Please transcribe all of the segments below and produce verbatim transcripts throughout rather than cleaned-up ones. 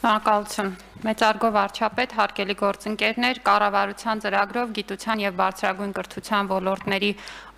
Շնորհակալություն։ Մեծարգո վարչապետ, հարգելի գործընկերներ, կառավարության ծրագրով գիտության եւ բարձրագույն կրթության ոլորտների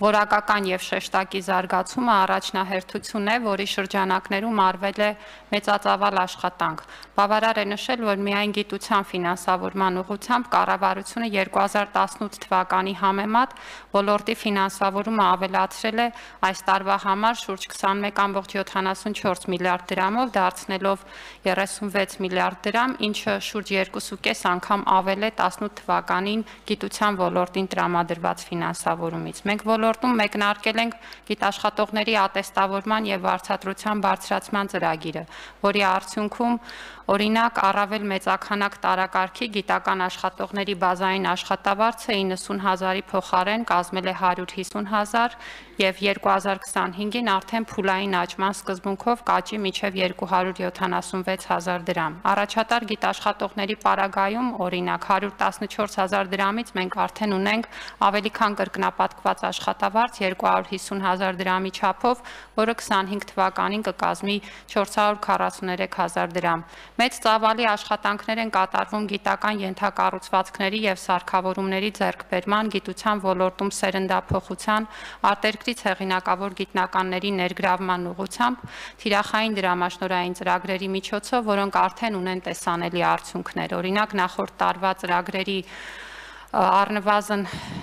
որակական եւ շեշտակի զարգացումը առաջնահերթություն է, որի շրջանակներում արվել է մեծածավալ աշխատանք։ Բավարար է նշել, որ միայն գիտության ֆինանսավորման ուղղությամբ կառավարությունը երկու հազար տասնութ թվականի համեմատ ոլորտի ֆինանսավորումը ավելացրել է այս տարվա համար շուրջ քսանմեկ կόμma յոթանասունչորս միլիարդ դրամով, դարձնելով երեսունվեց միլիարդ դրամ, ինչը շուրջ երկու կես անգամ ավել է տասնութ թվականին գիտության ոլորտին տրամադրված ֆինանսավորումից։ Մենք ոլորտում մեկնարկել ենք գիտաշխատողների ատեստավորման եւ վարձատրության բարձրացման ծրագիրը, որի արդյունքում օրինակ առավել մեծաքանակ տարակարգի գիտական աշխատողների բազային աշխատավարձը իննսուն հազարի փոխարեն կազմել է հարյուր հիսուն հազար եւ երկու հազար քսանհինգին արդեն փուլային աճման սկզբունքով կաճի մինչեւ երկու հարյուր յոթանասունվեց հազար դրամ։ Առաջատար գիտաշխատողների պարագայում օրինակ հարյուր տասնչորս հազար դրամից մենք արդեն ունենք ավելի քան կրկնապատկված աշխատավարձ երկու հարյուր հիսուն հազար դրամի չափով, որը քսանհինգ թվականին կկազմի չորս հարյուր քառասուներեք հազար դրամ։ Մեծ ծավալի աշխատանքներ են կատարվում գիտական ենթակառուցվածքների եւ սարքավորումների ձեռքբերման, գիտության ոլորտում սերնդափոխության, արտերկրից հեղինակավոր գիտնականների ներգրավման ուղղությամբ, թիրախային դրամաշնորհային ծրագրերի միջոցով, որոնք արդեն ունեն տեսանելի արդյունքներ։ Օրինակ նախորդ տարվա ծրագրերի առնվազն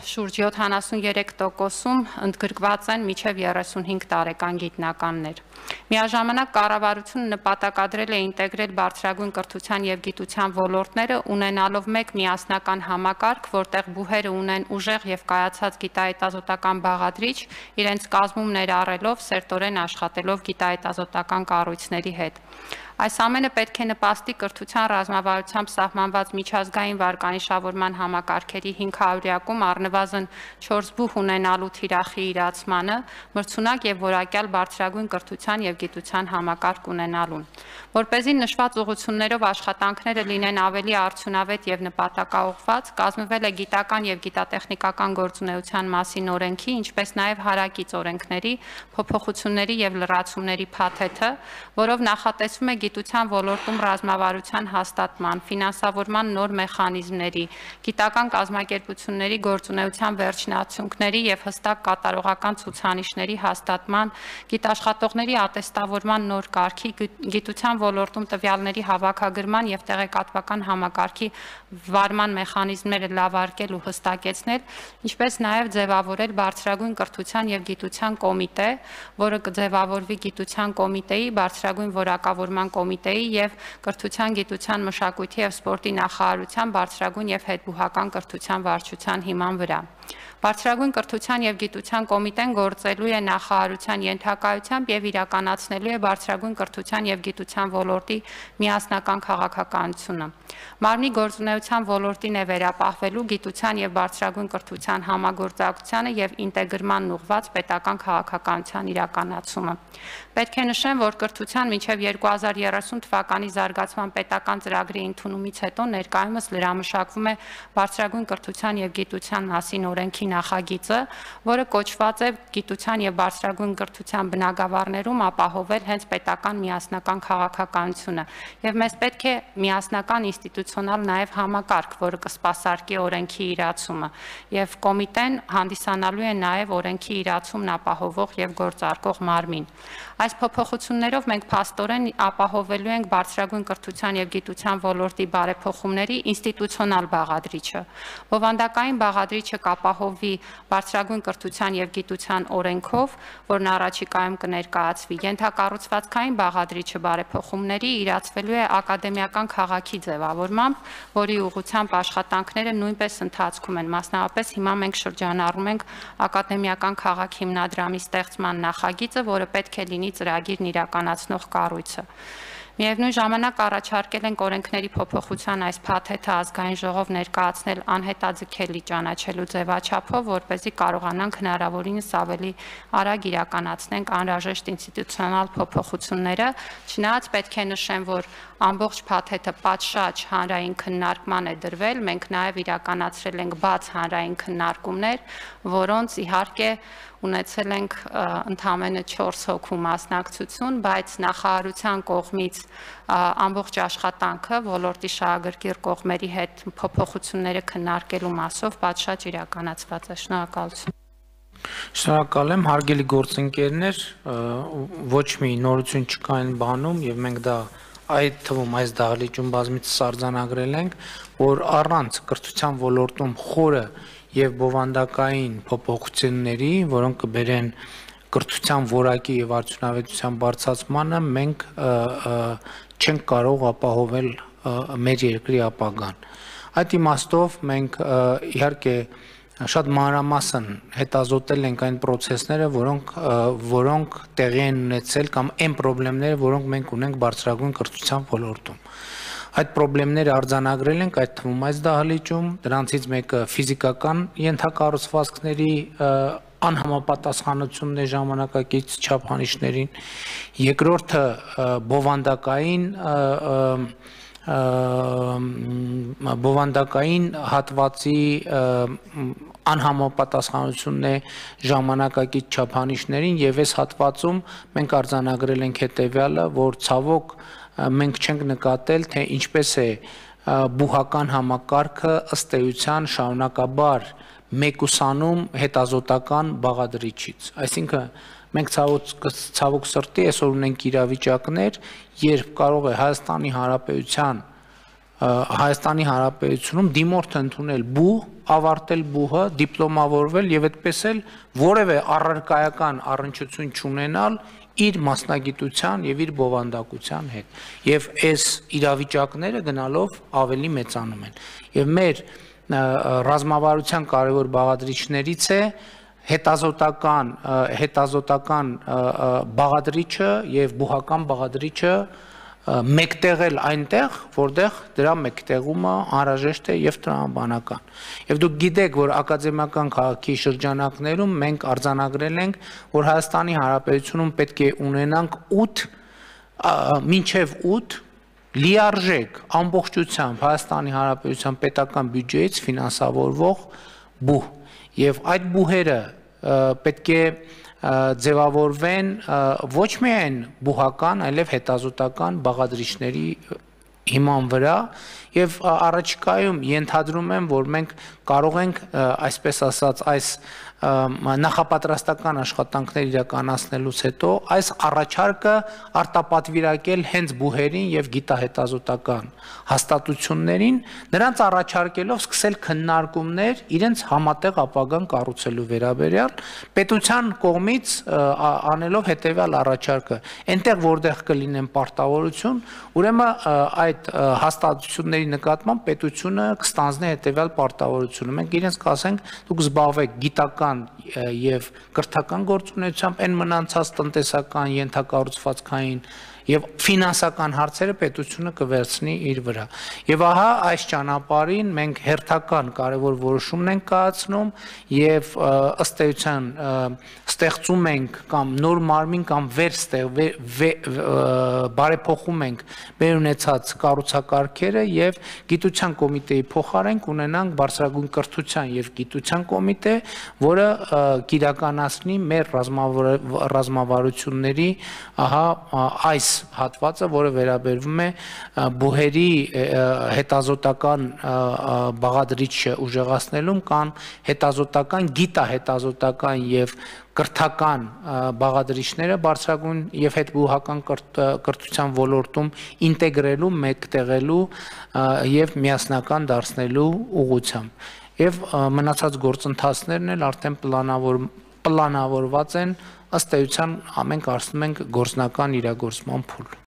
շուրջ յոթանասուներեք տոկոսում ընդգրկված են մինչև երեսունհինգ տարեկան գիտնականներ։ Միաժամանակ կառավարությունը նպատակադրել է ինտեգրել բարձրագույն կրթության եւ գիտության ոլորտները, ունենալով մեկ միասնական համակարգ, որտեղ բուհերը ունեն ուժեղ եւ կայացած գիտահետազոտական բաղադրիչ, իրենց կազմում ներառելով, սերտորեն աշխատելով գիտահետազոտական կառույցների հետ։ Այս ամենը պետք է նպաստի կրթության ռազմավարությամբ սահմանված միջազգային վարկանիշավորման համակարգերի հինգ հարյուրյակում առնվազն չորս բուհ ունենալու թիրախի իրացմանը, մրցունակ եւ որակյալ բարձրագույն կրթության եւ գիտության համակարգ ունենալուն։ Որպեսզի նշված ուղղություններով աշխատանքները լինեն ավելի արդյունավետ եւ նպատակաուղղված, կազմվել է գիտական եւ գիտատեխնիկական գործունեության մասին օրենքի, ինչպես նաեւ հարակից օրենքների, փոփոխությունների եւ լրացումների փաթեթը, որով նախատեսվում է գիտության ոլորտում ռազմավարության հաստատման, ֆինանսավորման նոր մեխանիզմների, գիտական կազմակերպությունների գործունեության վերջնացումների եւ հստակ կատարողական ցուցանիշների հաստատման, գիտաշխատողների ատեստավորման նոր կարգի, գիտության ոլորտում տվյալների հավաքագրման եւ տեղեկատվական համակարգի վարման մեխանիզմները լավարկել ու հստակեցնել, ինչպես նաեւ ձևավորել բարձրագույն կրթության եւ գիտության կոմիտե, որը կձևավորվի գիտության կոմիտեի, բարձրագույն որակավորման կոմիտեի եւ կրթության, գիտության, մշակույթի եւ սպորտի նախարարության բարձրագույն եւ հետբուհական կրթության վարչության հիման վրա։ Բարձրագույն կրթության եւ գիտության կոմիտեն գործելու է նախարարության ենթակայությամբ եւ իրականացնելու է բարձրագույն կրթության եւ գիտության ոլորտի միասնական քաղաքականությունը։ Մարմնի գործունեության ոլորտին է վերապահվելու գիտության եւ բարձրագույն կրթության համագործակցությանը եւ ինտեգրմանն ուղղված պետական քաղաքականության իրականացումը։ Պետք է նշեմ, որ կրթության մինչև երկու հազար երեսուն թվականի զարգացման պետական ծրագրի ընդունումից հետո ներկայումս լրամշակվում է բարձրագույն կրթության եւ գիտության մասին օրենքի նախագիծը, որը կոչված է գիտության եւ բարձրագույն կրթության բնագավառներում ապահովել հենց պետական միասնական քաղաքականությունը եւ մեզ պետք է միասնական ինստիտուցիոնալ նաեւ համակարգ, որը կսպասարկի օրենքի իրացումը եւ կոմիտեն հանդիսանալու է նաեւ օրենքի իրացումն ապահովող եւ գործարկող մարմին։ Այս փոփոխություններով մենք փաստորեն ապահովելու ենք բարձրագույն կրթության եւ գիտության ոլորտի բարեփոխումների ինստիտուցիոնալ բաղադրիչը։ Բովանդակային բաղադրիչը կապահովվի բարձրագույն կրթության եւ գիտության օրենքով, որն առաջիկայում կներկայացվի։ Ենթակառուցվածքային բաղադրիչը բարեփոխումների իրացվելու է ակադեմիական քաղաքի ձևավորմամբ, որի ուղղությամբ աշխատանքները նույնպես ընթացքում են։ Մասնավորապես հիմա մենք շրջանառում ենք ակադեմիական քաղաք հիմնադրամի ստեղծման նախագիծը, որը պետք է լինի ծրագիրն իրականացնող կառույցը։ Միևնույն ժամանակ առաջարկել ենք օրենքների փոփոխության այս փաթեթը ազգային ժողով ներկայացնել անհետաձգելի ճանաչելու ձևաչափով, որպեսզի կարողանանք հնարավորինս ավելի արագ իրականացնենք անհրաժեշտ ինստիտուցիոնալ փոփոխությունները, չնայած պետք է նշեմ, որ ամբողջ փաթեթը պատշաճ հանրային քննարկման է դրվել, մենք նաև իրականացրել ենք բաց հանրային քննարկումներ, որոնց իհարկե ունեցել ենք ընդամենը չորս հոգու մասնակցություն, բայց նախարարության կողմից ամբողջ աշխատանքը ոլորտի շահագրգիռ կողմերի հետ փոփոխությունները քննարկելու մասով պատշաճ իրականացված է։ Շնորհակալություն։ Շնորհակալ եմ, հարգելի գործընկերներ, ոչ մի նորություն չկա այն բանում եւ մենք դա այդ թվում այս դահլիճում բազմիցս արձանագրել ենք, որ առանց կրթության ոլորտում խորը եւ բովանդակային փոփոխությունների, որոնք կբերեն կրթության որակի եւ արդյունավետության բարձրացմանը, մենք չենք կարող ապահովել մեր երկրի ապագան։ Այդ իմաստով մենք իհարկե շատ մանրամասն հետազոտել ենք այն process-ները, որոնք որոնք տեղի են ունեցել կամ այն խնդիրները, որոնք մենք ունենք բարձրագույն կրթության ոլորտում։ Այդ խնդիրները արձանագրել ենք այդ թվում այս դահլիճում, դրանցից մեկը ֆիզիկական ենթակառուցվածքների անհամապատասխանությունն է ժամանակակից չափանիշներին, երկրորդը բովանդակային բովանդակային հատվածի անհամապատասխանությունն է ժամանակակից չափանիշներին եւ այս հատվածում մենք արձանագրել ենք հետեւյալը, որ ցավոք մենք չենք նկատել, թե ինչպես է բուհական համակարգը ըստ էության շարունակաբար մեկուսանում հետազոտական բաղադրիչից, այսինքն մենք ցավոք ցավոք սրտի այսօր ունենք իրավիճակներ, երբ կարող է Հայաստանի Հանրապետության Հայաստանի Հանրապետությունում դիմորդ ընդունել բուհ, ավարտել բուհը, դիպլոմավորվել եւ այդպես էլ որևէ առարկայական առնչություն չունենալ իր մասնագիտության եւ իր բովանդակության հետ։ Եվ այս իրավիճակները գնալով ավելի մեծանում են։ Եվ մեր ռազմավարության կարևոր բաղադրիչներից է հետազոտական հետազոտական բաղադրիչը եւ բուհական բաղադրիչը մեկտեղել այնտեղ, որտեղ դրա մեկտեղումը անհրաժեշտ է եւ տրամաբանական։ Եվ դուք գիտեք, որ ակադեմիական քաղաքի շրջանակներում մենք արձանագրել ենք, որ Հայաստանի Հանրապետությունում պետք է ունենանք ութ մինչեւ ութ լիարժեք ամբողջությամբ Հայաստանի Հանրապետության պետական բյուջեից ֆինանսավորվող բուհ։ Եվ այդ բուհերը պետք է ձևավորվեն ոչ միայն բուհական, այլև հետազոտական բաղադրիչների հիման վրա եւ առաջիկայում ենթադրում եմ, որ մենք կարող ենք այսպես ասած այս նախապատրաստական աշխատանքներ իրականացնելուց հետո այս առաջարկը արտապատվիրակել հենց բուհերին եւ գիտահետազոտական հաստատություններին, նրանց առաջարկելով սկսել քննարկումներ իրենց համատեղ ապագան կառուցելու վերաբերյալ, պետության կողմից անելով հետեւյալ առաջարկը, այնտեղ որտեղ կլինեն պարտավորություն, ուրեմն այդ հաստատությունների նկատմամբ պետությունը կստանձնի հետեւյալ պարտավորությունը։ Մենք իրենց կասենք, դուք զբաղվեք գիտական եւ կրթական գործունեությամբ, այն մնացած տնտեսական, ենթակառուցվածքային եւ ֆինանսական հարցերը պետությունը կվերցնի իր վրա։ Եվ ահա այս ճանապարհին մենք հերթական կարևոր որոշումն ենք կայացնում եւ ըստ էության ստեղծում ենք կամ նոր մարմին կամ բարեփոխում ենք մեր ունեցած կառուցակարգերը եւ գիտության կոմիտեի փոխարեն կունենանք բարձրագույն կրթության եւ գիտության կոմիտե, որը կիրականացնի մեր ռազմավարությունների ահա այս հատվածը, որը վերաբերվում է բուհերի հետազոտական բաղադրիչը ուժեղացնելուն կամ հետազոտական, գիտահետազոտական եւ կրթական բաղադրիչները բարձրագույն եւ հետբուհական կրթության ոլորտում ինտեգրելու, մեկտեղելու եւ միասնական դարձնելու ուղղությամբ։ Եվ մնացած գործընթացներն էլ արդեն պլանավոր պլանավորված են ըստ էության ամեն կարծում ենք գործնական իրագործման փուլ։